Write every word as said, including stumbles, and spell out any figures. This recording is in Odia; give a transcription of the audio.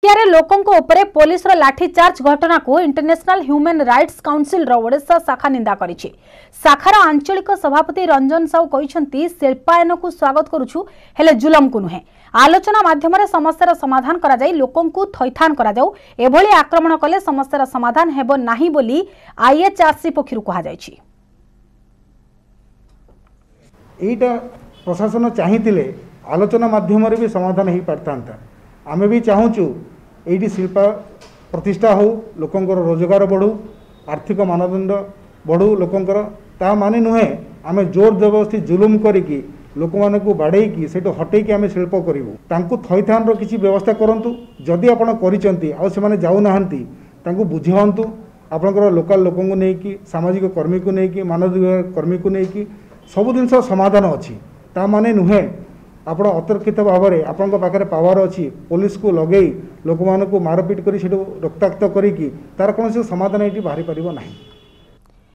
କାଶିଆରେ ଲୋକଙ୍କ ଉପରେ ପୋଲିସର ଲାଠିଚାର୍ଜ ଘଟଣାକୁ international human rights councillor Odisha ଶାଖା ନିନ୍ଦା କରିଛି। ଶାଖାର ଆଞ୍ଚଳିକ ସଭାପତି ରଞ୍ଜନ ସାହୁ କହିଛନ୍ତି, ଶିଳ୍ପାୟନକୁ ସ୍ୱାଗତ କରୁଛୁ, ହେଲେ ଜୁଲମକୁ ନୁହେଁ। ଆଲୋଚନା ମାଧ୍ୟମରେ ସମସ୍ୟାର ସମାଧାନ କରାଯାଇ ଲୋକଙ୍କୁ ଥଇଥାନ କରାଯାଉ। ଏଭଳି ଆକ୍ରମଣ କଲେ ସମସ୍ୟାର ସମାଧାନ ହେବ ନାହିଁ ବୋଲି ଆଇଏଚ୍ଆରସି ପକ୍ଷରୁ କୁହାଯାଇଛି। ଏଇଟା ପ୍ରଶାସନ ଚାହିଁଥିଲେ ଆଲୋଚନା ମାଧ୍ୟମରେ ବି ସମାଧାନ ହେଇପାରିଥାନ୍ତା। ଆମେ ବି ଚାହୁଁଛୁ ଏଇଠି ଶିଳ୍ପ ପ୍ରତିଷ୍ଠା ହେଉ, ଲୋକଙ୍କର ରୋଜଗାର ବଢ଼ୁ, ଆର୍ଥିକ ମାନଦଣ୍ଡ ବଢ଼ୁ ଲୋକଙ୍କର। ତା ମାନେ ନୁହେଁ ଆମେ ଜୋର ଜବରଦସ୍ତି ଜୁଲୁମ କରିକି ଲୋକମାନଙ୍କୁ ବାଡ଼େଇକି ସେଇଠୁ ହଟେଇକି ଆମେ ଶିଳ୍ପ କରିବୁ। ତାଙ୍କୁ ଥଇଥାନର କିଛି ବ୍ୟବସ୍ଥା କରନ୍ତୁ। ଯଦି ଆପଣ କରିଛନ୍ତି ଆଉ ସେମାନେ ଯାଉନାହାନ୍ତି, ତାଙ୍କୁ ବୁଝାନ୍ତୁ। ଆପଣଙ୍କର ଲୋକାଲ ଲୋକଙ୍କୁ ନେଇକି, ସାମାଜିକ କର୍ମୀକୁ ନେଇକି, ମାନବିକ କର୍ମୀକୁ ନେଇକି ସବୁ ଜିନିଷ ସମାଧାନ ଅଛି। ତା ମାନେ ନୁହେଁ ଆପଣ ଅତର୍କିତ ଭାବରେ ଆପଣଙ୍କ ପାଖରେ ପାୱାର ଅଛି, ପୋଲିସକୁ ଲଗେଇ ଲୋକମାନଙ୍କୁ ମାରପିଟ କରି ସେଠୁ ରକ୍ତାକ୍ତ କରିକି ତାର କୌଣସି ସମାଧାନ ଏଇଠି ବାହାରି ପାରିବ ନାହିଁ।